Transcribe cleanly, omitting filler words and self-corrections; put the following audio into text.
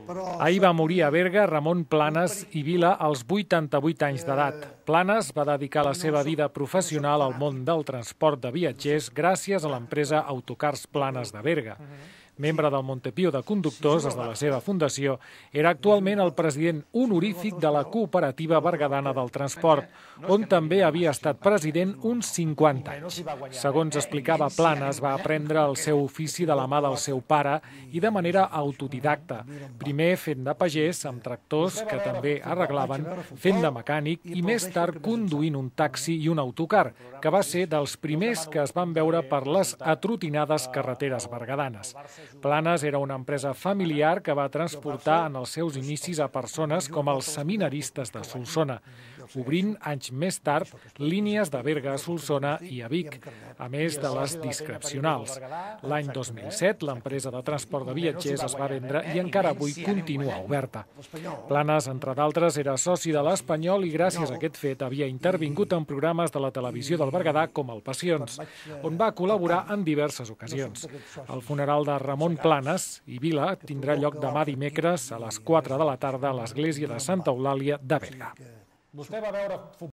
Ahir va morir a Berga Ramon Planes i Vila als 88 anys d'edat. Planes va dedicar la seva vida professional al món del transport de viatgers gràcies a l'empresa Autocars Planes de Berga. Membre del Montepío de Conductors des de la seva fundació, era actualment el president honorífic de la Cooperativa Berguedana del Transport, on també havia estat president uns 50 anys. Segons explicava Planes, va aprendre el seu ofici de la mà del seu pare i de manera autodidacta, primer fent de pagès amb tractors que també arreglaven, fent de mecànic i més tard conduint un taxi i un autocar, que va ser dels primers que es van veure per les atrotinades carreteres berguedanes. Planes era una empresa familiar que va transportar en els seus inicis a persones com els seminaristes de Solsona, obrint anys més tard línies de Berga a Solsona i a Vic, a més de les discrecionals. L'any 2007 l'empresa de transport de viatgers es va vendre i encara avui continua oberta. Planes, entre d'altres, era soci de l'Espanyol i gràcies a aquest fet havia intervingut en programes de la televisió del Berguedà com el Passions, on va col·laborar en diverses ocasions. El funeral de Ramon Planes i Vila tindrà lloc demà dimecres a les 4 de la tarda a l'església de Santa Eulàlia de Berga.